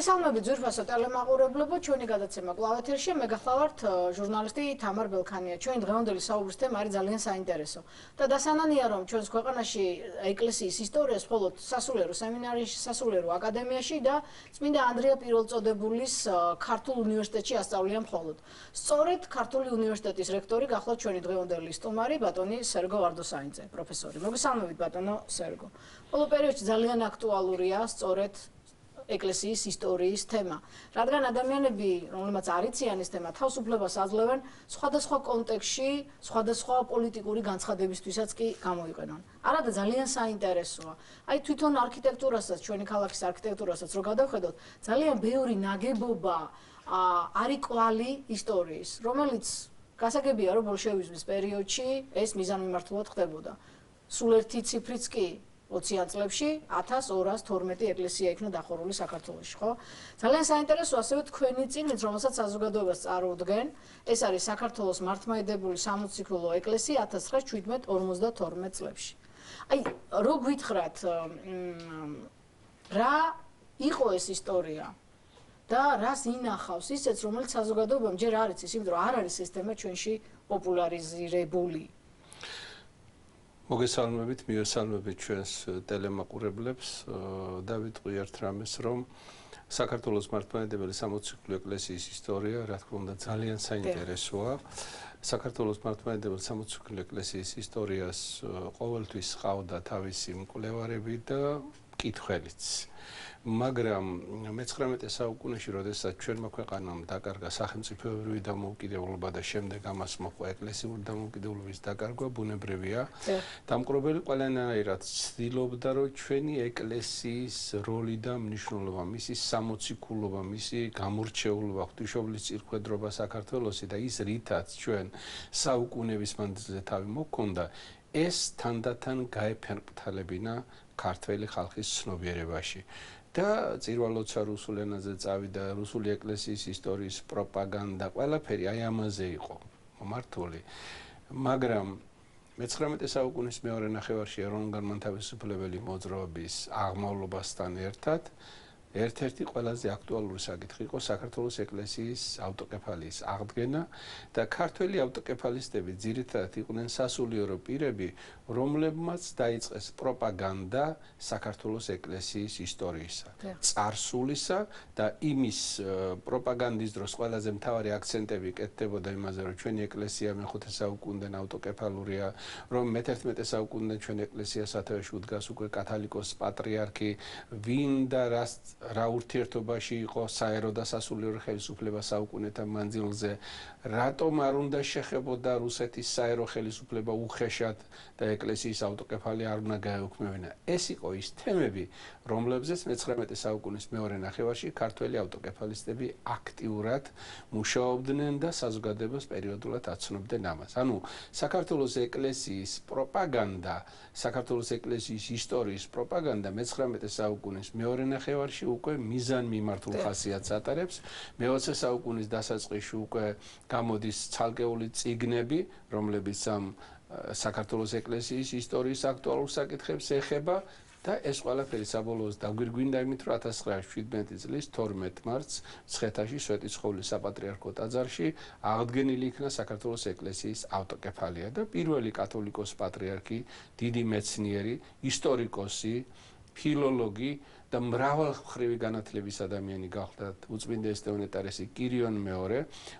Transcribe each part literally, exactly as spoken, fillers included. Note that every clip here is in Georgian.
მოგესალმებით ძვირფასო ტელემაყურებლებო, ჩვენი გადაცემა კვლავ ეთერშია, მე გახლავართ ჟურნალისტი თამარ ბელქანია. ჩვენი დღევანდელი საუბრის თემა არის ძალიან საინტერესო. და დასანანია რომ ჩვენს ქვეყანაში ეკლესიის ისტორიას მხოლოდ სასულიერო სემინარიაში, სასულიერო აკადემიაში და წმინდა ანდრია პირველწოდებულის ქართულ უნივერსიტეტში ასწავლიან მხოლოდ. სწორედ ქართული უნივერსიტეტის რექტორი გახლავთ ჩვენი დღევანდელი სტუმარი ბატონი სერგო ვარდოსაინძე, პროფესორი. მოგესალმებით ბატონო სერგო. ბოლო პერიოდში ძალიან აქტუალურია სწორედ ეკლესიის ისტორიის თემა. რადგან ადამიანები, რომლებმაც არ იციან ეს თემა, თავისუფლებას აძლევენ სხვადასხვა კონტექსტში, სხვადასხვა პოლიტიკური განცხადებისთვისაც კი გამოიყენონ. არადა ძალიან საინტერესოა. აი თვითონ არქიტექტურასაც, ჩვენი ქალაქის არქიტექტურასაც რო გადავხედოთ, ძალიან ბევრი ნაგებობა არის კვალი ისტორიის, რომელიც გასაგებია რომ ბოლშევიზმის პერიოდში ეს მიზანმიმართულად ხდებოდა. სულ ერთი ციფრიც კი ოციან წლებში ათას ორას თორმეტი ეკლესია იქნა დახურული საქართველოში, ხო? ძალიან საინტერესოა ასევე თქვენი წიგნით, რომელსაც საზოგადოებას წარუდგენ. ეს არის საქართველოს მართლმადიდებელი სამოციქულო ეკლესია ათას ცხრაას შვიდმეტ ორმოცდათორმეტ წლებში. აი, რო გითხრათ, რა იყო ეს ისტორია და რას ინახავს ისეც, რომელიც საზოგადოებამ ჯერ არ იცის, იმიტომ რომ არ არის ეს თემა ჩვენში პოპულარიზირებული. მოგესალმებით, მივესალმებით ჩვენს ტელემაყურებლებს და ვიტყვი ერთ რამეს, რომ საქართველოს მართლმადიდებელი სამოციქულო ეკლესიის ისტორია, რა თქმა უნდა, ძალიან საინტერესოა. საქართველოს მართლმადიდებელი სამოციქულო ეკლესიის ისტორიას ყოველთვის ჰყავდა თავისი მკვლევარები და მკითხველიც. მაგრამ მეცხრამეტე საუკუნეში, როდესაც ჩვენმა ქვეყანამ დაკარგა სახელმწიფოებრივი დამოუკიდებლობა და შემდეგ ამას მოჰყვა ეკლესიური დამოუკიდებლობის დაკარგვა, ბუნებრივია. დამკვირვებელი ყველანაირად ცდილობდა, რომ ჩვენი ეკლესიის როლი და მნიშვნელობა, მისი სამოციქულობა, მისი გამორჩეულობა, ღვთისმშობლის წირხვედრობა საქართველოსი და ის რითაც ჩვენ საუკუნეების მანძილზე თავი მოჰქონდა, ეს თანდათან გაეფერმკრთალებინა ქართველი ხალხის ცნობიერებაში. და წირვა-ლოცვა რუსულ ენაზე წავიდა, რუსული ეკლესიის ისტორიის პროპაგანდა, ყველაფერი აი ამაზე იყო მომართული. მაგრამ მეცხრამეტე საუკუნის მეორე ნახევარში ეროვნულ-განმათავისუფლებელი მოძრაობის აღმავლობასთან ერთად ერთ-ერთი ყველაზე აქტუალური საკითხი იყო საქართველოს ეკლესიის ავტოკეფალიის აღდგენა და ქართველი ავტოკეფალისტები ძირითადად იყვნენ სასულიერო პირები, რომლებმაც დაიწყეს პროპაგანდა საქართველოს ეკლესიის ისტორიისა, წარსულისა და იმის პროპაგანდის დროს ყველაზე მთავარი აქცენტები კეთდებოდა იმაზე, რომ ჩვენი ეკლესია მეხუთე საუკუნიდან ავტოკეფალურია, რომ მეთერთმეტე საუკუნიდან ჩვენ ეკლესიას სათავეში უდგას უკვე კათალიკოს პატრიარქი, ვინ და რას რა ურთიერთობაში იყო საერო და სასულიერო ხელისუფლება საუკუნეთა მანძილზე, რატომ არ უნდა შეხებოდა რუსეთის საერო ხელისუფლება უხეშად და ეკლესიის ავტოკეფალია არ უნდა გაეუქმებინა. ეს იყო ის თემები, რომლებზეც მეცხრამეტე საუკუნის მეორე ნახევარში ქართველი ავტოკეფალისტები აქტიურად მუშაობდნენ და საზოგადოებას პერიოდულად აცნობდნენ ამას. ანუ საქართველოს ეკლესიის პროპაგანდა, საქართველოს ეკლესიის ისტორიის პროპაგანდა მეცხრამეტე საუკუნის მეორე ნახევარში უკვე მიზანმიმართულ ხასიათს ატარებს. მეოცე საუკუნის დასაწყისში უკვე გამოდის ცალკეული წიგნები, რომლებიც ამ საქართველოს ეკლესიის ისტორიის აქტუალურ საკითხებს ეხება და ეს ყველაფერი საბოლოოდ დაგვირგვინდა იმით, რომ ათას ცხრაას შვიდმეტი წლის თორმეტ მარტს მცხეთაში სვეტიცხოვლის საპატრიარქო ტაძარში აღდგენილი იქნა საქართველოს ეკლესიის ავტოკეფალია და პირველი კათოლიკოს პატრიარქი, დიდი მეცნიერი, ისტორიკოსი, ფილოლოგი და მრავალმხრივი განათლების ადამიანი გახდა უწმინდა ესტევანეტარესი კირიონ მეორე,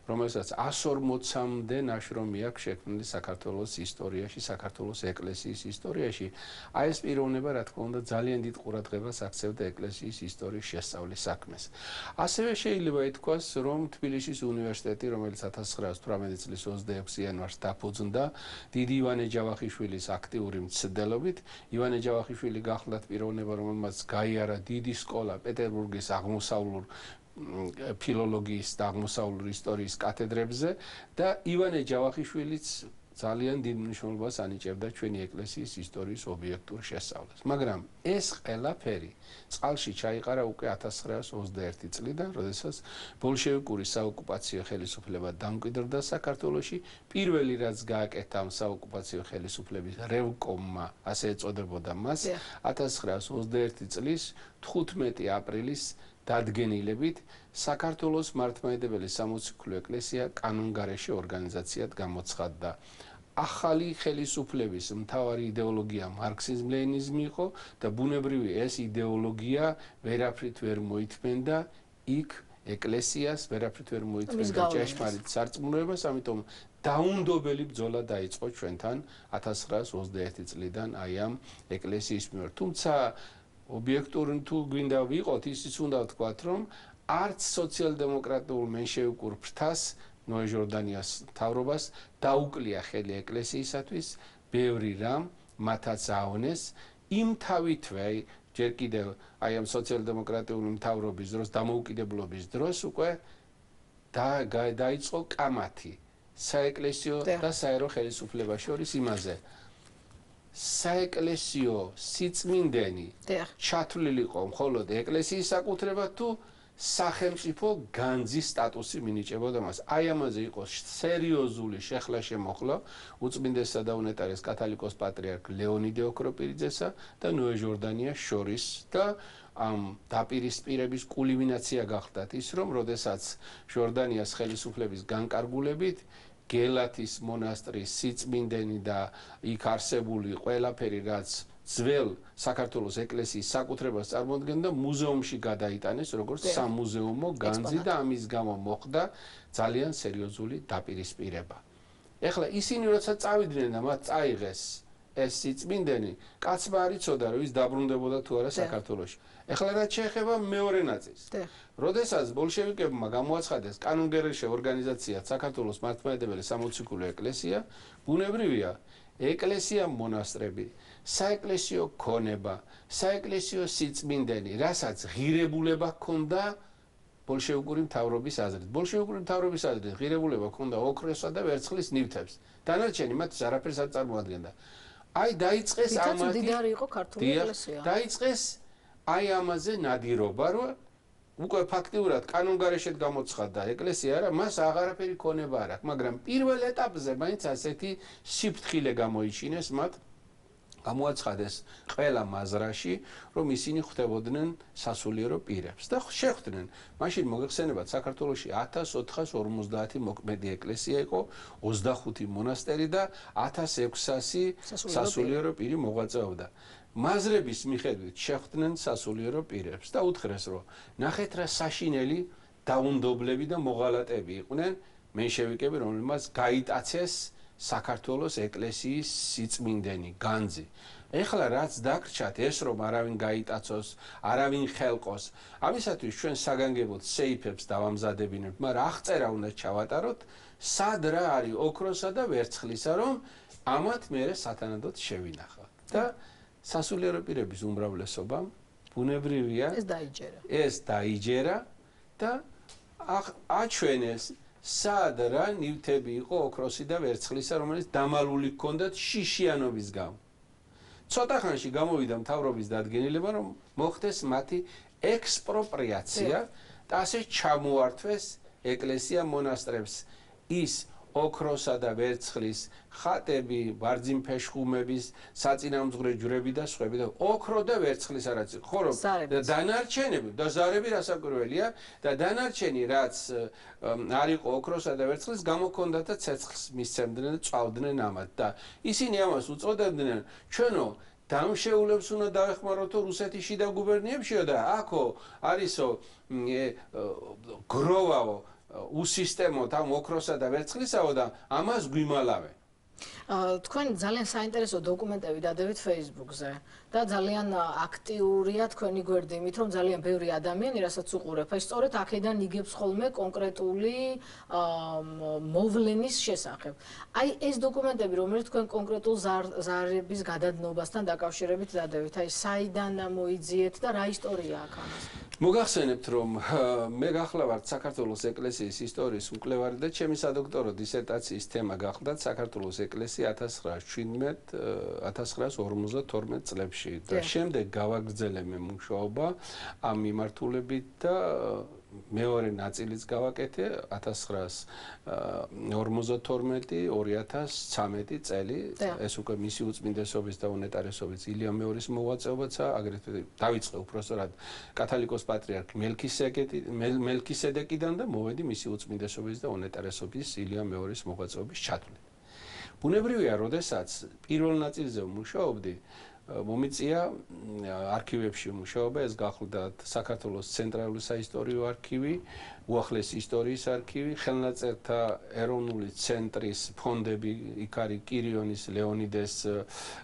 რომელსაც ას ორმოცამდე ნაშრომი აქვს შექმნილი საქართველოს ისტორიაში, საქართველოს ეკლესიის ისტორიაში. აი ეს პიროვნება, რა თქმა უნდა, ძალიან დიდ ყურადღებას აქცევდა ეკლესიის ისტორიის შესწავლის საქმეს. ასევე შეიძლება ითქვას, რომ თბილისის უნივერსიტეტი, რომელიც ათას ცხრაას თვრამეტი წლის ოცდაექვსი იანვარს დაფუძნდა, დიდი ივანე ჯავახიშვილის აქტიური მცდელობით, ივანე ჯავახიშვილი გახლდათ პიროვნება, რომელმაც გაიარა დიდი სკოლა პეტერბურგის აღმოსავლურ ფილოლოგიის და აღმოსავლურ ისტორიის კათედრებზე და ივანე ჯავახიშვილიც ძალიან დიდ მნიშვნელობას ანიჭებდა ჩვენი ეკლესიის ისტორიის ობიექტურ შესწავლას. მაგრამ ეს ყველაფერი წყალში ჩაიყარა უკვე ათას ცხრაას ოცდაერთი წლიდან, როდესაც ბოლშევიკური საოკუპაციო ხელისუფლება დამკვიდრდა საქართველოში. პირველი რაც გააკეთა ამ საოკუპაციო ხელისუფლების რევკომმა, ასე ეწოდებოდა მას, ათას ცხრაას ოცდაერთი წლის თხუთმეტი აპრილის დადგენილებით საქართველოს მართლმადიდებელი სამოციქულო ეკლესია კანონგარეშე ორგანიზაციად გამოცხადდა. ახალი ხელისუფლების მთავარი იდეოლოგია მარქსიზმ-ლენინიზმი იყო და ბუნებრივი ეს იდეოლოგია ვერაფრით ვერ მოითმენდა იქ ეკლესიას, ვერაფრით ვერ მოითმენდა ჭეშმარიტ სარწმუნოებას, ამიტომ დაუნდობელი ბრძოლა დაიწყო ჩვენთან ათას ცხრაას ოცდაერთი წლიდან აი ამ ეკლესიის მიერ. თუმცა ობიექტური თუ გვინდა ვიყოთ, ისიც უნდა ვთქვათ, რომ არც სოციალ-დემოკრატიულ მენშევიკურ ფრთას ნოე ჟორდანიას მთავრობას დაუკლია ხელი ეკლესიისათვის, ბევრი რამ მათაც აონეს, იმთავითვე ჯერ კიდევ აი ამ სოციალ-დემოკრატიული მთავრობის დროს, დამოუკიდებლობის დროს უკვე დაიწყო კამათი საეკლესიო და საერო ხელისუფლებას შორის იმაზე. საეკლესიო სიწმინდენი ჩათვლილი იყო მხოლოდ ეკლესიის საკუთრებად თუ სახელმწიფო განძის სტატუსი მინიჭებოდა მას. აი ამაზე იყო სერიოზული შეხლა შემოხლა უწმინდესსა და უნეტარეს კათოლიკოს პატრიარქ ლეონიდე ოქროპირიძესა და ნოე ჟორდანიას შორის და ამ დაპირისპირების კულმინაცია გახდათ ის, რომ როდესაც ჟორდანიას ხელისუფლების განკარგულებით გელათის მონასტრის სიწმინდენი და იქ არსებული ყველაფერი რაც ძველ საქართველოს ეკლესიის საკუთრებას წარმოადგენდა მუზეუმში გადაიტანეს როგორც სამუზეუმო განძი და ამის გამო მოხდა ძალიან სერიოზული დაპირისპირება. ეხლა ისინი როცა წავიდნენ და მათ წაიღეს ეს სიწმინდენი, კაცმა არ იცოდა რომ ის დაბრუნდებოდა თუ არა საქართველოში. ეხლა რაც შეეხება მეორე ნაწილს. როდესაც ბოლშევიკებმა გამოაცხადეს კანონგარეშე ორგანიზაციად საქართველოს მართლმადიდებელი სამოციქულო ეკლესია, ბუნებრივია ეკლესია მონასტრები, საეკლესიო ქონება, საეკლესიო სიწმინდენი, რასაც ღირებულება ჰქონდა ბოლშევიკური მთავრობის აზრით. ბოლშევიკური მთავრობის აზრით ღირებულება ჰქონდა ოქროსა და ვერცხლის ნივთებს. დანარჩენი მათ არაფერს არ წარმოადგენდა. აი დაიწყეს ამათი მდიდარი იყო ქართული ეკლესია. დაიწყეს აი ამაზე ნადირობა, რომ უკვე ფაქტიურად კანონგარეშედ გამოცხადდა ეკლესია, რა მას აღარაფერი ქონება არ აქვს, მაგრამ პირველ ეტაპზე მაინც ასეთი სიფრთხილე გამოიჩინეს მათ, გამოაცხადეს ყველა მაზრაში, რომ ისინი ხვდებოდნენ სასულიერო პირებს და შეხვდნენ. მაშინ მოგეხსენებათ, საქართველოში ათას ოთხას ორმოცდაათი მოქმედი ეკლესია იყო, ოცდახუთი მონასტერი და ათას ექვსასი სასულიერო პირი მოღვაწეობდა. მაზრების მიხედვით შეხვდნენ სასულიერო პირებს და უთხრეს, რომ ნახეთ რა საშინელი დაუნდობლები და მოღალატები იყვნენ მენშევიკები, რომელმაც გაიტაცეს საქართველოს ეკლესიის სიწმინდენი, განძი. ეხლა რაც დაგრჩათ ეს რომ არავინ გაიტაცოს, არავინ ხელყოს, ამისათვის ჩვენ საგანგებოდ სეიფებს დავამზადებინებთ, მაგრამ აღწერა უნდა ჩავატაროთ, სად რა არის ოქროსა და ვერცხლისა, რომ ამათ მერე სათანადოდ შევინახავთ. და სასულიერო პირების უმრავლესობამ ბუნებრივია ეს დაიჯერა. ეს დაიჯერა და აჩვენეს სად რა ნივთები იყო ოქროსი და ვერცხლისა, რომელიც დამალული ჰქონდათ შიშიანობის გამო. ცოტა ხანში გამოვიდა მთავრობის დადგენილება, რომ მოხდეს მათი ექსპროპრიაცია და ასე ჩამოართვეს ეკლესია მონასტრებს ის ოქროსა და ვერცხლის ხატები, ბარძიმფეშხუმების, საწინამძღვრე ჯვრები და სხვები და ოქრო და ვერცხლის არაც ხო რომ დანარჩენები და ზარები რასაკვირველია და დანარჩენი რაც არ იყო ოქროსა და ვერცხლის გამოქონდათ და ცეცხლს მისცემდნენ და წავდნენ ამათ და ისინი ამას უწოდებდნენ ჩვენო დამშეულებს უნდა დაეხმაროთო რუსეთის შიდა გუბერნიებშიო და აქო არისო გროვაო უსისტემოდ ამ ოქროსა და ვერცხლისაო და ამას გვიმალავენ. თქვენ ძალიან საინტერესო დოკუმენტები დადებით Facebook-ზე და ძალიან აქტიურია თქვენი გვერდი, იმით რომ ძალიან ბევრი ადამიანი, რასაც უყურებ, ეს სწორედ აქედან იგებს ხოლმე კონკრეტული მოვლენის შესახებ. აი ეს დოკუმენტები, რომელიც თქვენ კონკრეტულ ზარების გადადნობასთან დაკავშირებით დადებით, აი საიდან მოიძიეთ და რა ისტორია აქვს ამას? მოგახსენებთ, რომ მე გახლავართ საქართველოს ეკლესიის ისტორიის მკვლევარი და ჩემი სადოქტორო დისერტაციის თემა გახლდათ საქართველოს ეკლესია ათას ცხრაას ორმოცდათორმეტ წლებში და შემდეგ გავაგრძელე მე მუშაობა ამ მიმართულებით და მეორე ნაწილიც გავაკეთე ათას ცხრაას ორმოცდათორმეტი ორი ათას ცამეტი წელი ეს უკვე მისი უწმინდესობის და უნეტარესობის ილია მეორის მოღვაწეობაცა აგრეთვე დავიწყე უпростоრად კათოლიკოს პატრიარქ მელქისედეკიდან და მოვედი მისი უწმინდესობის და უნეტარესობის ილია მეორის მოღვაწეობის ჩათვლით. ბუნებრივია, როდესაც პირველ ნაწილზე ვმუშაობდი, მომიწია არქივებში მუშაობა, ეს გახლდათ საქართველოს ცენტრალური საისტორიო არქივი, უახლესი ისტორიის არქივი, ხელნაწერთა ეროვნული ცენტრის ფონდები, იქ არის კირიონის, ლეონიდეს,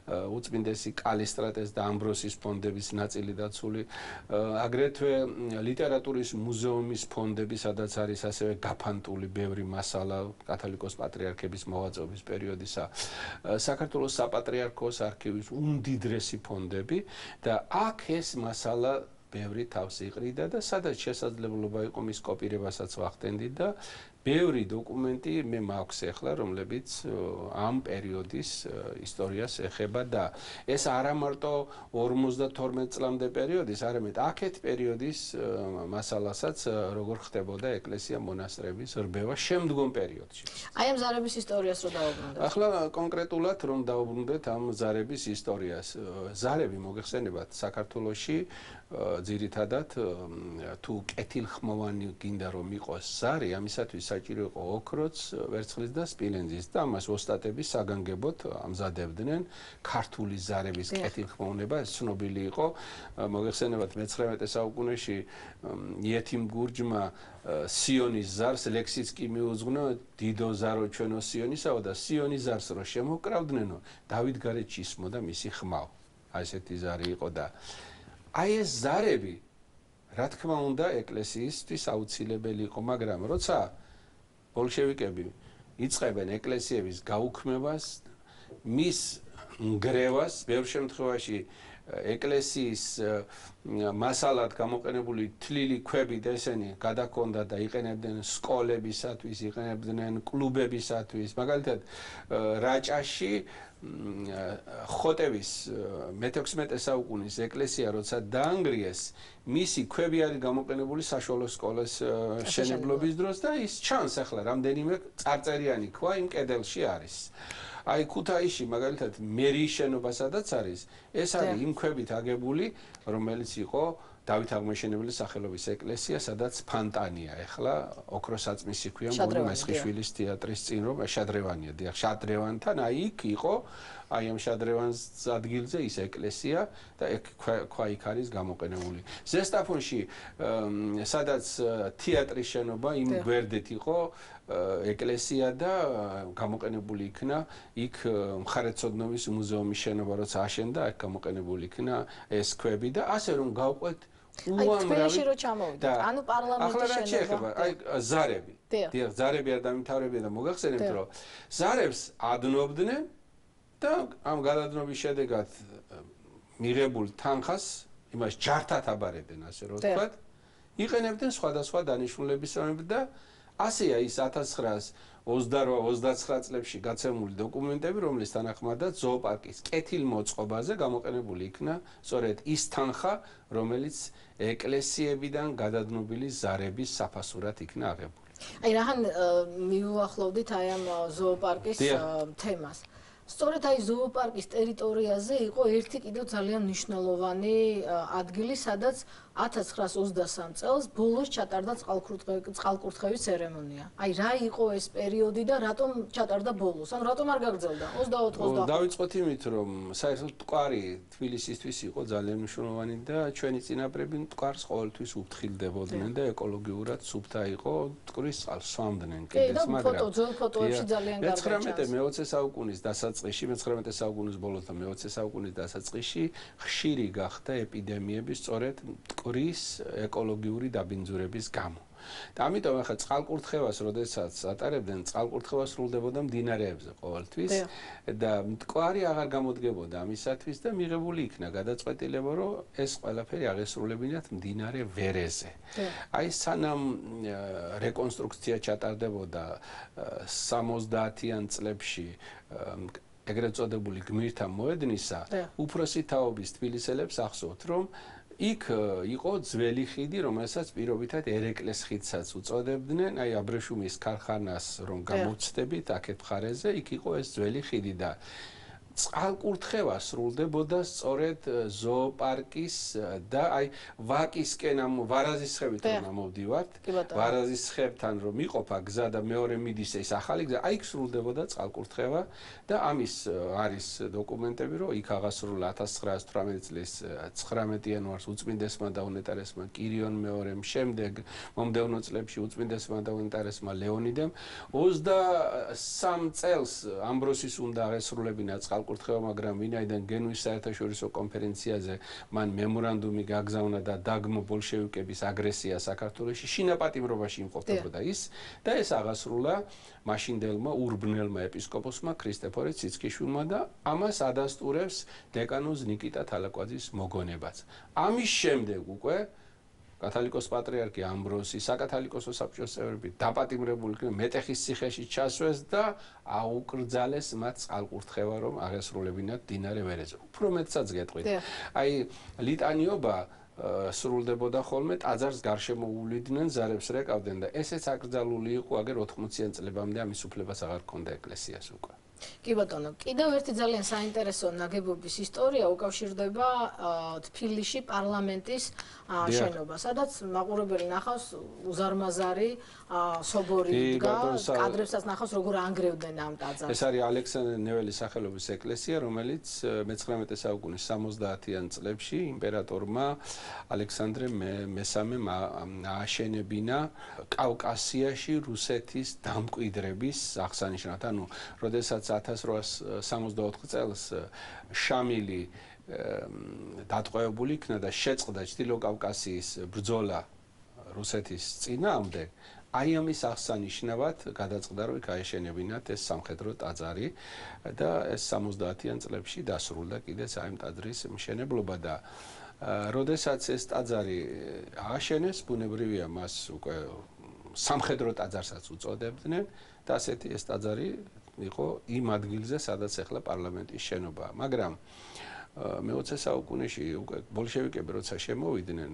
უწმინდესი კალისტრატეს და ამბროსის ფონდების ნაწილი დაცული, აგრეთვე ლიტერატურის მუზეუმის ფონდები, სადაც არის ასევე გაფანტული ბევრი მასალა კათოლიკოს პატრიარქების მოღვაწეობის პერიოდისა, საქართველოს საპატრიარქოს არქივის უმდიდრესი ფონდები და აქ ეს მასალა ბევრი თავს იყრიდა და სადაც შესაძლებლობა იყო მის კოპირებასაც ვახდენდით და ბევრი დოკუმენტი მე მაქვს ახლა, რომლებიც ამ პერიოდის ისტორიას ეხება და ეს არა მარტო ორმოცდათორმეტ წლამდე პერიოდის, არამედ აქეთ პერიოდის მასალასაც როგორ ხდებოდა ეკლესია მონასტრების რბევა შემდგომ პერიოდში. აი ამ ზარების ისტორიას რო დავუბრუნდეთ. ახლა კონკრეტულად რომ დავუბრუნდეთ ამ ზარების ისტორიას. ზარები მოგეხსენებათ საქართველოში ძირითადად თუ კეთილხმოვანი გინდა რომ იყოს ზარი, ამისათვის საჭირო იყო ოქროც, ვერცხლის და სპილენძის და ამას ოსტატები საგანგებოდ ამზადებდნენ. ქართული ზარების კეთილხმოვნება ეს ცნობილი იყო. მოგეხსენებათ მეცხრამეტე საუკუნეში იეთიმ გურჯმა სიონის ზარს ლექსიც კი მიუძღვნა დიდო ზარო ჩვენო სიონისაო და სიონის ზარს რო შემოკრავდნენო დავით გარეჯი ისმოდა მისი ხმაო. აი ესეთი ზარი იყო და აი ეს ზარები, რა თქმა უნდა, ეკლესიისთვის აუცილებელი იყო, მაგრამ როცა ბოლშევიკები იწყებენ ეკლესიების გაუქმებას, მის ნგრევას, ბევრ შემთხვევაში ეკლესიის მასალად გამოყენებული თლილი ქვები და ესენი გადაქონდა და იყენებდნენ სკოლებისათვის, იყენებდნენ კლუბებისათვის, მაგალითად რაჭაში ხოტევის მეთექვსმეტე საუკუნის ეკლესია როცა დაანგრიეს, მისი ქვები არის გამოყენებული საშუალო სკოლის შენებლობის დროს და ის ჩანს ახლა რამდენიმე წარწერიანი ქვა იმ კედელში არის. აი ქუთაისში მაგალითად მერიის შენობა სადაც არის, ეს არის იმ ქვებით აგებული, რომელიც იყო დავით აღმაშენებლის სახელობის ეკლესია, სადაც ფანტანია, ეხლა ოქროსაწმისი ქვია მგონი მესხიშვილის თეატრის წინ რომ შადრევანია, დიახ, შადრევანთან, აი იქ იყო, აი ამ შადრევანს ადგილზე ის ეკლესია და ეგ ქვა იქ არის გამოყენებული. ზესტაფონში სადაც თეატრის შენობა იმ გვერდით იყო ეკლესია და გამოყენებული იქნა იქ მხარეთმცოდნეობის მუზეუმის შენობა როცა აშენდა, აქ გამოყენებული იქნა ეს ქვები და ასე რომ გავყვეთ უამრავი რო ჩამოვიდა. ანუ პარლამენტის შენობა. აი ზარები. დიახ, ზარები არ დამთავრებია და მოგახსენებთ რომ ზარებს ადნობდნენ და ამ გადადნობის შედეგად მიღებულ თანხას იმას ჯართად აბარებდნენ, ასე რომ ვთქვათ, იყენებდნენ სხვადასხვა დანიშნულებისამებრ და ასეა ის ათას ცხრაას ოცდაოთხ ოცდაცხრა წლებში გაცემული დოკუმენტები, რომლის თანახმადაც ზოოპარკის კეთილმოწყობაზე გამოყენებული იქნა სწორედ ის თანხა, რომელიც ეკლესიებიდან გადადნობილი ზარების საფასურად იქნა აღებული. აი რახან მიუახლოვდით აი ამ ზოოპარკის თემას. სწორედ აი ზოოპარკის ტერიტორიაზე იყო ერთი კიდევ ძალიან მნიშვნელოვანი ადგილი, სადაც ათას ცხრაას ოცდასამ წელს ბოლოს ჩატარდა წყალკურთხევის ცერემონია. აი რა იყო ეს პერიოდი და რატომ ჩატარდა ბოლოს? ან რატომ არ გაგრძელდა? ოცდაოთხ ოცდახუთ. დავიწყოთ იმით, რომ საერთოდ მტკვარი თბილისისთვის იყო ძალიან მნიშვნელოვანი და ჩვენი წინაპრები მტკვარს ყოველთვის უფრთხილდებოდნენ და ეკოლოგიურად სუფთა იყო, მტკვრის წყალს სვამდნენ კიდეც, მაგრამ ფოტო, ძველ ფოტოებში ძალიან კარგად მეცხრამეტე მეოცე საუკუნის დასაწყისში, მეცხრამეტე საუკუნის ბოლოს და მეოცე საუკუნის დასაწყისში ხშირი გახდა ეპიდემიები სწორედ მტკვრის ეკოლოგიური დაბინძურების გამო. და ამიტომ ახლა წყალკურთხევას, როდესაც ატარებდნენ, წყალკურთხევა სრულდებოდა მდინარეებზე ყოველთვის და მტკვარი აღარ გამოდგებოდა ამისათვის და მიღებული იქნა გადაწყვეტილება, რომ ეს ყველაფერი აღესრულებინათ მდინარე ვერეზე. აი სანამ რეკონსტრუქცია ჩატარდებოდა სამოცდაათიან წლებში ეგრეთ წოდებული გმირთა მოედნისა, უფროსი თაობის თბილისელებს ახსოვთ, რომ იქ იყო ძველი ხიდი, რომელსაც პირობითად ერეკლეს ხიდსაც უწოდებდნენ, აი აბრეშუმის ქარხანას რომ გამოვცდებით აქეთ მხარეზე, იქ იყო ეს ძველი ხიდი და წყალკურთხევა სრულდებოდა სწორედ ზოოპარკის და აი ვაკისკენ ამ ვარაზის ხევით რომ ამოვდივართ, ვარაზის ხევთან რომ იყოფა გზა და მეორე მიდის ეს ახალი გზა, აი იქ სრულდებოდა წყალკურთხევა და ამის არის დოკუმენტები, რომ იქ აღასრულა ათას ცხრაას თვრამეტი წლის ცხრამეტი იანვარს უწმინდესმა და უნეტარესმა კირიონ მეორემ, შემდეგ მომდევნო წლებში უწმინდესმა და უნეტარესმა ლეონიდემ ოცდასამ წელს ამბროსის უნდა აღესრულებინა კურთხევა, მაგრამ ვინაიდან გენუის საერთაშორისო კონფერენციაზე მან მემორანდუმი გაგზავნა და დაგმო ბოლშევიკების აგრესია საქართველოში, შინაპატიმრობაში იმყოფებოდა ის და ეს აღასრულა მაშინდელმა ურბნელმა ეპისკოპოსმა ქრისტეფორე ციცქიშვილმა და ამას ადასტურებს დეკანოზ ნიკიტა თალაკვაძის მოგონებაც. ამის შემდეგ უკვე კათალიკოს პატრიარქი ამბროსი, საკათალიკოსო საბჭოს წევრები დაპატიმრებული იქნენ, მეტეხის ციხეში ჩასვეს და აუკრძალეს მათ წყალკურთხევა, რომ აღესრულებინათ მდინარე ვერეზე. უფრო მეტსაც გეტყვით. აი ლიტანიობა სრულდებოდა ხოლმე, ტაძარს გარშემო უვლიდნენ, ზარებს რეკავდნენ და ესეც აკრძალული იყო აგერ ოთხმოციან წლებამდე, ამის უფლებას აღარ ჰქონდა ეკლესიას უკვე. კი ბატონო, კიდევ ერთი ძალიან საინტერესო ნაგებობის ისტორია უკავშირდება თბილისში პარლამენტის შენობა, სადაც მაყურებელი ნახავს უზარმაზარი სობორი დგა, კადრებსაც ნახავს როგორ ანგრევდნენ ამ ტაძარს. ეს არის ალექსანდრე ნეველის სახელობის ეკლესია, რომელიც მეცხრამეტე საუკუნის სამოცდაათიან წლებში იმპერატორმა ალექსანდრე მესამემ ააშენებინა კავკასიაში რუსეთის დამკვიდრების აღსანიშნავად. ანუ როდესაც ათას რვაას სამოცდაოთხ წელს შამილი დატყვევებული იქნა და შეწყდა ჩრდილო კავკასიის ბრძოლა რუსეთის წინააღმდეგ, აი ამის აღსანიშნავად გადაწყდა, რომ იქ აეშენებინათ ეს სამხედრო ტაძარი და ეს სამოცდაათიან წლებში დასრულდა კიდეც აი ამ ტაძრის მშენებლობა და როდესაც ეს ტაძარი ააშენეს, ბუნებრივია მას უკვე სამხედრო ტაძარსაც უწოდებდნენ და ასეთი ეს ტაძარი იყო იმ ადგილზე, სადაც ახლა პარლამენტის შენობაა. მაგრამ მეოცე საუკუნეში უკვე ბოლშევიკები როცა შემოვიდნენ,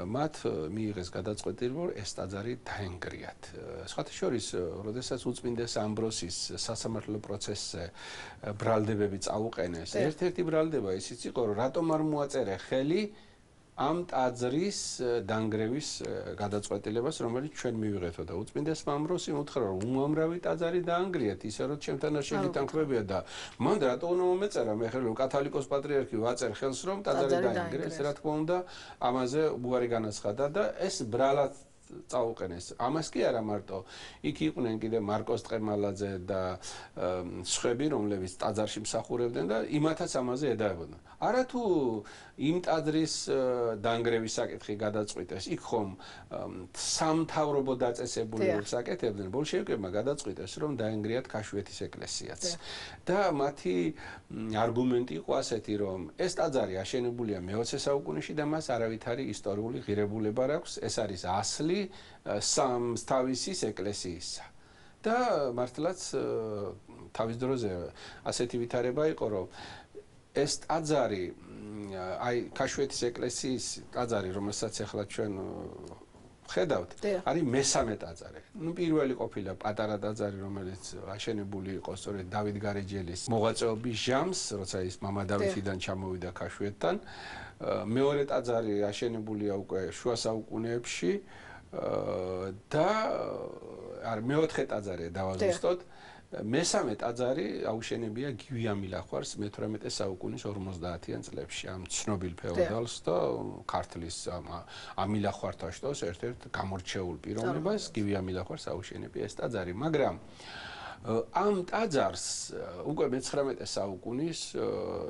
მათ მიიღეს გადაწყვეტილება, რომ ეს ტაძარი დაენგრიათ. სხვათა შორის, როდესაც უწმინდეს ამბროსის სასამართლო პროცესზე ბრალდებები წაუყენეს, ერთ-ერთი ბრალდება ისიც იყო, რომ რატომ არ მოაწერე ხელი ამ ტაძრის დანგრევის გადაწყვეტილებას, რომელიც ჩვენ მივიღეთო და უწმინდესმა ამბროსიმ უთხრა, რომ უამრავი ტაძარი დაანგრიათ, ისე რომ ჩემთან არ შეგიტანხმებია და მან რატო უნდა მომეწერა მე ხელი, რომ კათალიკოს პატრიარქი ვაწერ ხელს, რომ ტაძარი დაანგრიეს, რა თქმა უნდა, ამაზე უარი განაცხადა და ეს ბრალად წაუყენეს. ამას კი არა მარტო, იქ იყვნენ კიდე მარკოს ტყემალაძე და სხვები, რომლებიც ტაძარში მსახურებდნენ და იმათაც ამაზე ედაებოდნენ. არა თუ იმ ტაძრის დანგრევის საკითხი გადაწყვიტეს, იქ ხომ სამთავრობო დაწესებულებებს აკეთებდნენ, ბოლშევიკებმა გადაწყვიტეს, რომ დაენგრიათ ქაშვეთის ეკლესიაც. და მათი არგუმენტი იყო ასეთი, რომ ეს ტაძარი აშენებულია მეოცე საუკუნეში და მას არავითარი ისტორიული ღირებულება არ აქვს, ეს არის ასლი სამსთავისის ეკლესიისა. და მართლაც თავის დროზე ასეთი ვითარება იყო, რომ ეს ტაძარი, აი ქაშვეთის ეკლესიის ტაძარი, რომელსაც ახლა ჩვენ ხედავთ, არის მესამე ტაძარი. ნუ პირველი ყოფილა პატარა ტაძარი, რომელიც აშენებული იყო სწორედ დავით გარეჯელის მოღვაწეობის ჟამს, როცა ის მამა დავითიდან ჩამოვიდა ქაშვეთთან. მეორე ტაძარი აშენებულია უკვე შუა საუკუნეებში და არ მეოთხე ტაძარი დავაზუსტოთ. მესამე ტაძარი აუშენებია გივი ამილახვარს მეთვრამეტე საუკუნის ორმოცდაათიან წლებში ამ ცნობილ ფეოდალს და ქართლის ამილახვართაშტოს ერთ-ერთ გამორჩეულ პიროვნებას გივი ამილახვარს აუშენებია ეს ტაძარი, მაგრამ ამ ტაძარს უკვე მეცხრამეტე საუკუნის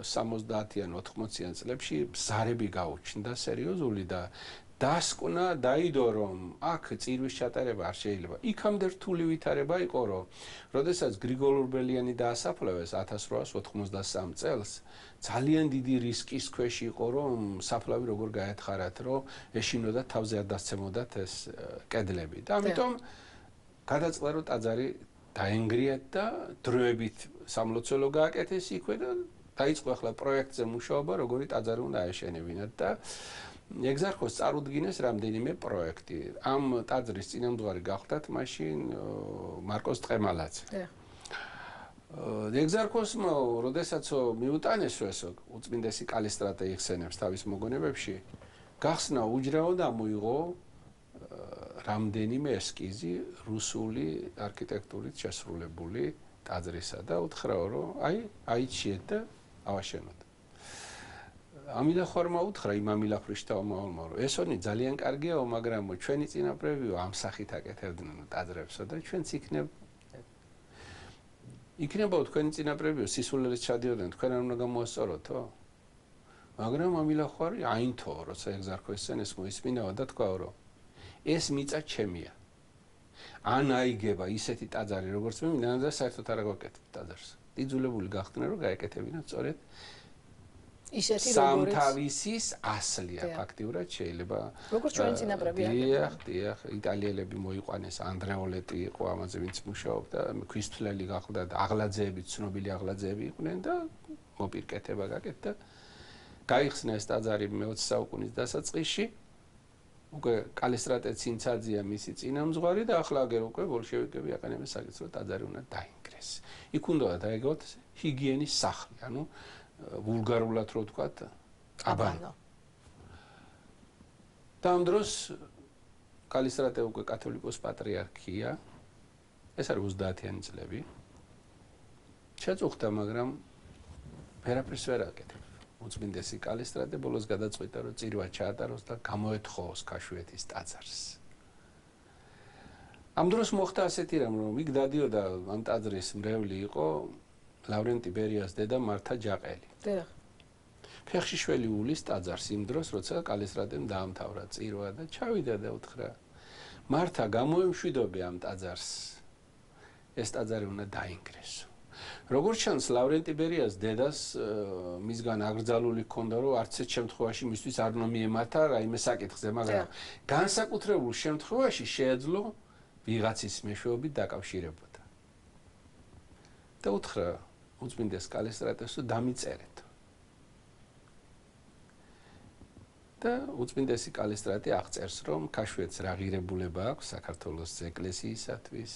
სამოცდაათიან ოთხმოციან წლებში ბზარები გაუჩნდა სერიოზული და დასკვნა დაიდო, რომ აქ წირვის ჩატარება არ შეიძლება. იქამდე რთული ვითარება იყო, რომ როდესაც გრიგოლ ურბელიანი დაასაფლავეს ათას რვაას ოთხმოცდასამ წელს, ძალიან დიდი რისკის ქვეშ იყო, რომ საფლავი როგორ გაეთხარათ, რომ ეშინოდათ თავზე არ დასცემოდათ ეს კედლები. და ამიტომ გადაწყდა, რომ ტაძარი დაენგრიათ და დროებით სამლოცველო გააკეთეს იქვე და დაიწყო ახლა პროექტზე მუშაობა, როგორი ტაძარი უნდა აეშენებინათ და ეგზარქოს წარუდგინეს რამდენიმე პროექტი. ამ ტაძრის წინამძღვარი გახდათ მაშინ მარკოს ტყემალაძე. ეგზარქოსმა, როდესაც მიუტანესო ეს უწმინდესი კალისტრატე იხსენებს თავის მოგონებებში, გახსნა უჯრაო და მოიღო რამდენიმე ესკიზი რუსული არქიტექტურით შესრულებული ტაძრისა და უთხრაო, რომ აი, აიჩიეთ და ავაშენოთ. ამილახორმა უთხრა იმ ამილახრიშტაომაოლმა, რომ ესონი ძალიან კარგიაო, მაგრამ ჩვენი წინაპრებიო ამ სახით აკეთებდნენ ტაძრებსო და ჩვენც იქნებ იქნებაო თქვენი წინაპრებიო სისულელით ჩადიოდნენ, თქვენ არ უნდა გამოასწოროთო? მაგრამ ამილახვარი აინთო, როცა ეგზარქო ესენეს მოისმინაო და თქვა, რომ ეს მიწა ჩემია. ან აიგება ისეთი ტაძარი, როგორც მე მინდა და საერთოდ არ გავაკეთებ ტაძარს. იძულებული გახდნენ, რომ გაეკეთებინათ სწორედ ისეთი როგორც სამთავისის ასლია ფაქტიურად შეიძლება როგორც ჩვენ წინაპრები დიახ, დიახ, იტალიელები მოიყვანეს, ანდრეოლეტი იყო ამაზე ვინც მუშაობდა, ქვისთვლელი გახდა და აღლაძეები, ცნობილი აღლაძეები იყვნენ და მოპირკეთება გაკეთდა. გაიხსნა ეს ტაძარი მეოცე საუკუნის დასაწყისში. უკვე კალისტრატე ცინცაძეა მისი წინამძღვარი და ახლა აგერ უკვე ბოლშევიკები აყენებენ საკითხს, რომ ტაძარი უნდა დაინგრეს. იქ უნდა დაეგოთ ჰიგიენის სახლი, ანუ ვულგარულად რო ვთქვათ, აბანო. და ამ დროს კალისტრატე უკვე კათოლიკოს პატრიარქია, ეს არის ოცდაათიანი წლები. შეწუხდა, მაგრამ ვერაფერს ვერ აკეთებ. უწმინდესი კალისტრატე ბოლოს გადაწყვიტა, რომ წირვა ჩაატაროს და გამოეთხოვოს ქაშვეთის ტაძარს. ამ დროს მოხდა ასეთი რამ, რომ იქ დადიოდა ამ ტაძრის მრევლი იყო ლავრენტი ბერიას დედა მართა ჯაყელი. დიახ. ფეხში შველი უვლის ტაძარს იმ დროს, როცა კალისტრატემ დაამთავრა წირვა და ჩავიდა და უთხრა: მართა, გამოემშვიდობე ამ ტაძარს. ეს ტაძარი უნდა დაინგრესო. როგორც ჩანს, ლავრენტი ბერიას დედას მისგან აკრძალული ჰქონდა, რომ არც ერთ შემთხვევაში მისთვის არ უნდა მიემართა რაიმე საკითხზე, მაგრამ განსაკუთრებულ შემთხვევაში შეეძლო ვიღაცის მეშვეობით დაკავშირებოდა. და უთხრა უწმინდეს კალისტრატეს, რომ დამიწერეთ. და უწმინდესი კალისტრატე აღწერს, რომ ქაშვეთს რა ღირებულება აქვს საქართველოს ეკლესიისათვის,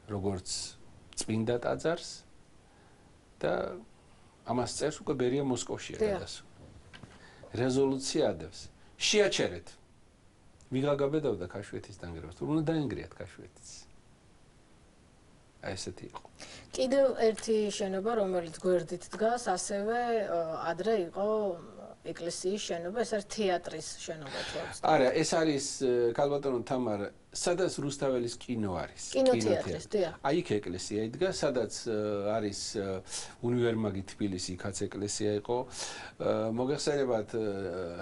როგორც წმინდა ტაძარს და ამას წერს უკვე ბერია მოსკოვშია გადასული. რეზოლუცია ადევს. შეაჩერეთ. ვიღა გაბედავდა ქაშვეთის დანგრევას, თუ უნდა დაინგრიათ ქაშვეთის. აი ესეთი იყო. კიდევ ერთი შენობა, რომელიც გვერდით დგას, ასევე ადრე იყო ეკლესიის შენობა, ეს არის თეატრის შენობა თორს. არა, ეს არის ქალბატონო თამარ, სადაც რუსთაველის კინო არის. კინოთეატრის, დიახ. აი იქ ეკლესია იდგა, სადაც არის უნივერმაგი თბილისი, იქაც ეკლესია იყო. მოგეხსენებათ,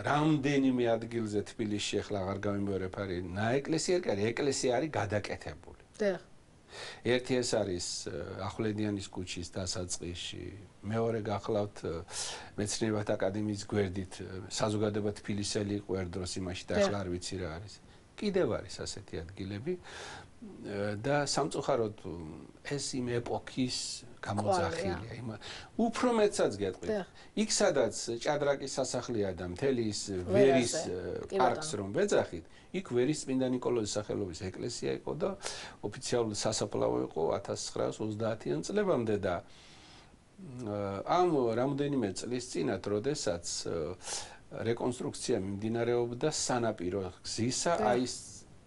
რამდენიმე ადგილზე თბილისში ახლა აღარ გამიმეორებ არის ნაეკლესიარი, ეკლესია არის გადაკეთებული. დიახ. ერთი ეს არის ახვლედიანის ქუჩის დასაწყისში, მეორე გახლავთ მეცნიერებათა აკადემიის გვერდით, საზოგადოება თბილისელი იყო ერთ დროს იმაში და ახლა არ ვიცი რა არის. კიდევ არის ასეთი ადგილები და სამწუხაროდ ეს იმ ეპოქის გამოძახილია. იმ უფრო მეცაც გეტყვით. იქ სადაც ჭადრაკის სასახლეა და მთელი ის ვერის პარკს რომ ვეძახით, იქ ვერის წმინდა ნიკოლოზის სახელობის ეკლესია იყო და ოფიციალური სასაფლაო იყო ათას ცხრაას ოცდაათიან წლებამდე და ამ რამდენიმე წლის წინათ, როდესაც რეკონსტრუქცია მიმდინარეობდა სანაპირო გზისა, აი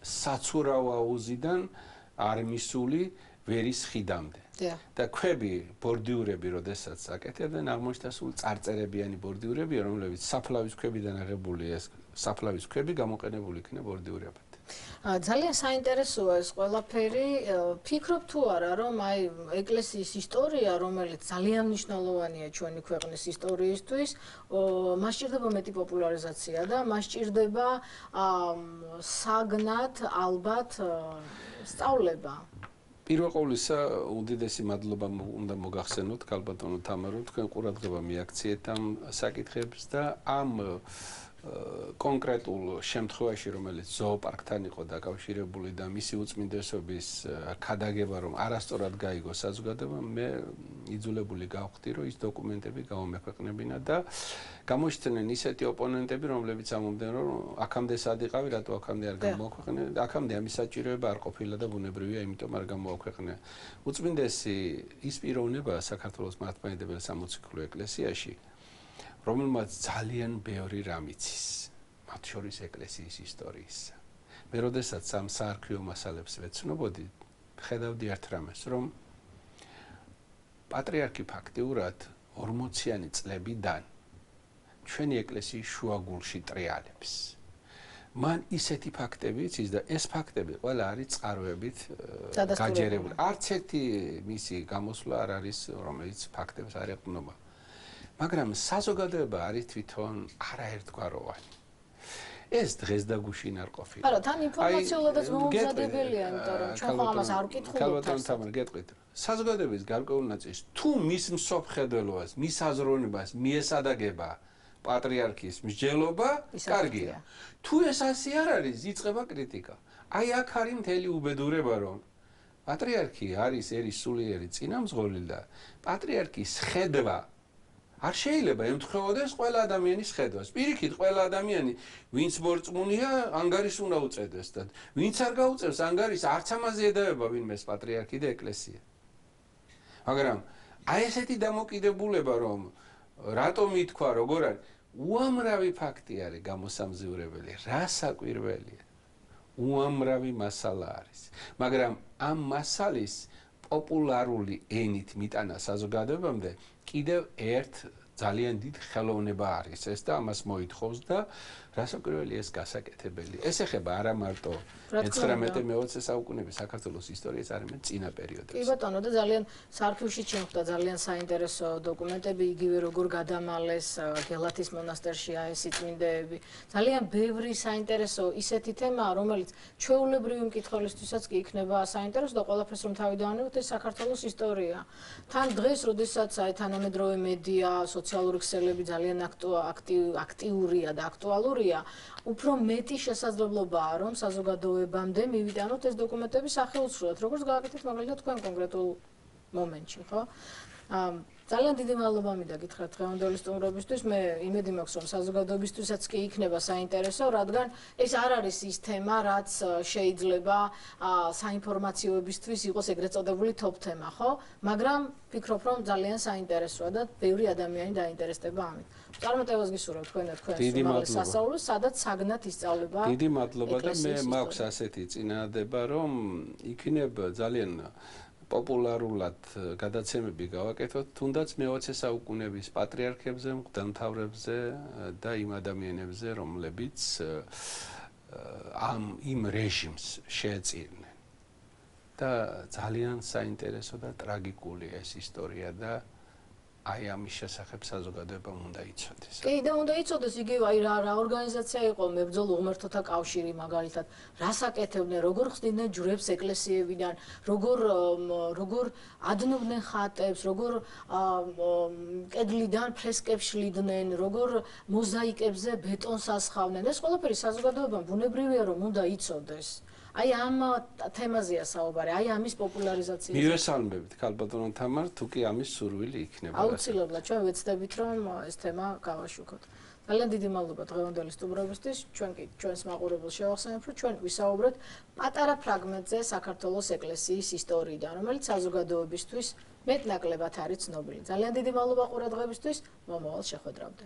საცურავ აუზიდან არმისული ვერის ხიდამდე. და ქვები, ბორდიურები, როდესაც აკეთებდნენ, აღმოჩნდა სულ წარწერებიანი ბორდიურები, რომლებიც საფლავის ქვებიდან აღებული ეს საფლავის ქვები გამოყენებული იქნა ბორდიურებად. ძალიან საინტერესოა ეს ყველაფერი. ფიქრობ თუ არა, რომ აი ეკლესიის ისტორია, რომელიც ძალიან მნიშვნელოვანია ჩვენი ქვეყნის ისტორიისთვის, მას სჭირდება მეტი პოპულარიზაცია და მას სჭირდება საგნად ალბათ სწავლება. პირველ ყოვლისა, უდიდესი მადლობა უნდა მოგახსენოთ ქალბატონო თამარო, თქვენ ყურადღება მიაქციეთ ამ საკითხებს და ამ კონკრეტულ შემთხვევაში, რომელიც ზოოპარკთან იყო დაკავშირებული და მისი უწმინდესობის ქადაგება, რომ არასწორად გაიგო საზოგადოება, მე იძულებული გავხდი, რომ ის დოკუმენტები გავამექვეყნებინა და გამოჩნდნენ ისეთი ოპონენტები, რომლებიც ამომდნენ, რომ აქამდე სად იყავი, რატო აქამდე არ გამოაქვეყნე, აქამდე ამის საჭიროება არ ყოფილა და ბუნებრივია, იმიტომ არ გამოაქვეყნე. უწმინდესი ის პიროვნება საქართველოს მართლმადიდებელი სამოციქულო ეკლესიაში, რომელმაც ძალიან ბევრი რამ იცის, მათ შორის ეკლესიის ისტორიისა. მე როდესაც ამ საარქივო მასალებს ვეცნობოდი, ხედავდი ერთ რამეს, რომ პატრიარქი ფაქტიურად ორმოციანი წლებიდან ჩვენი ეკლესიის შუაგულში ტრიალებს. მან ისეთი ფაქტები იცის და ეს ფაქტები ყველა არის წყაროებით გაჯერებული. არც ერთი მისი გამოსვლა არ არის, რომელიც ფაქტებს არ ეყრდნობა. მაგრამ საზოგადოება არის თვითონ არაერთგვაროვანი. ეს დღეს და გუშინ არ ყოფილა. არა, თან ინფორმაციულადაც მოუმზადებელია, იმიტომ რომ ჩვენ ხო ამას არ ვკითხულობთ. ქალბატონ თამარ, გეტყვით. საზოგადოების გარკვეულ ნაწილს თუ მის მსოფლმხედველობას, მის აზროვნებას მიესადაგება პატრიარქის მსჯელობა, კარგია. თუ ეს ასე არ არის, იწყება კრიტიკა. აი აქ არის მთელი უბედურება, რომ პატრიარქი არის ერის სულიერი წინამძღოლი და პატრიარქის ხედვა არ შეიძლება ემთხვეოდეს ყველა ადამიანის ხედვას. პირიქით, ყველა ადამიანი, ვინც მორწმუნეა, ანგარის უნდა უწევდეს და ვინც არ გაუწევს ანგარის, არც ამაზე ედავება ვინმეს პატრიარქი და ეკლესია. მაგრამ აი ესეთი დამოკიდებულება, რომ რატომ ითქვა, როგორ არის, უამრავი ფაქტი არის გამოსამზივრებელი, რა საკვირველია. უამრავი მასალა არის. მაგრამ ამ მასალის პოპულარული ენით მიტანა საზოგადოებამდე კიდევ ერთ ძალიან დიდ ხელოვნება არის ეს და ამას მოითხოვს და რასაკვირველია ეს გასაკეთებელი. ეს ეხება არა მარტო მეცხრამეტე მეოცე საუკუნეების საქართველოს ისტორიას, არამედ წინა პერიოდებს. კი ბატონო და ძალიან საარქივში ჩემხდა ძალიან საინტერესო დოკუმენტები, იგივე როგორ გადამალეს გელათის მონასტერში აესი წმინდეები. ძალიან ბევრი საინტერესო ისეთი თემაა, რომელიც ჩვეულებრივი მკითხველისთვისაც კი იქნება საინტერესო და ყველაფერს რომ თავი დავანებოთ, ეს საქართველოს ისტორია. თან დღეს, როდესაც აი თანამედროვე მედია, სოციალური ქსელები ძალიან აქტიურია და აქტუალურია, უფრო მეტი შესაძლებლობაა, რომ საზოგადოებამდე მივიტანოთ ეს დოკუმენტები სახელმწიფოდ, როგორც გააკეთეთ მაგალითად თქვენ კონკრეტულ მომენტში, ხო? ძალიან დიდი მადლობა მინდა გითხრათ დღევანდელი სტუმრობისთვის. მე იმედი მაქვს, რომ საზოგადოებისთვისაც კი იქნება საინტერესო, რადგან ეს არ არის ის თემა, რაც შეიძლება საინფორმაციოებისთვის იყოს ეგრეთ წოდებული top თემა, ხო? მაგრამ ვფიქრობ, რომ ძალიან საინტერესოა და ბევრი ადამიანი დაინტერესდება ამით. წარმატებას გისურვებ თქვენად თქვენს უმაღლეს სასწავლოს, სადაც საგნად ისწავლება. დიდი მადლობა და მე მაქვს ასეთი წინადადება, რომ იქნებ ძალიან პოპულარულად გადაცემები გავაკეთოთ, თუნდაც მეოცე საუკუნეების პატრიარქებზე, მღვდელმთავრებზე და იმ ადამიანებზე, რომლებიც ამ იმ რეჟიმს შეეწირნენ. და ძალიან საინტერესო და ტრაგიკული ეს ისტორია და აი ამის შესახებ საზოგადოებამ უნდა იცოდეს. კი და უნდა იცოდეს იგივე აი რა რა ორგანიზაცია იყო მებრძოლ უღმრთოთა კავშირი მაგალითად, რას აკეთებდნენ, როგორ ხსნიდნენ ჯვრებს ეკლესიებიდან, როგორ როგორ ადნობდნენ ხატებს, როგორ კედლიდან ფრესკებს შლიდნენ, როგორ მოზაიკებზე ბეტონს ასხავდნენ. ეს ყველაფერი საზოგადოებამ ბუნებრივია რომ უნდა იცოდეს. აი ამ თემაზეა საუბარი, აი ამის პოპულარიზაცია. მივესალმებით ქალბატონო თამარ, თუ კი ამის სურვილი იქნება. აუცილებლად ჩვენ ვეცდებით რომ ეს თემა გავაშუქოთ. ძალიან დიდი მადლობა დღევანდელი სტუმრობისთვის. ჩვენ კი ჩვენს მაყურებელს შევახსენებთ, რომ ჩვენ ვისაუბრეთ პატარა ფრაგმენტზე საქართველოს ეკლესიის ისტორიიდან, რომელიც საზოგადოებისთვის მეტნაკლებად არის ცნობილი. ძალიან დიდი მადლობა ყურადღებისთვის. მომავალ შეხვედრამდე.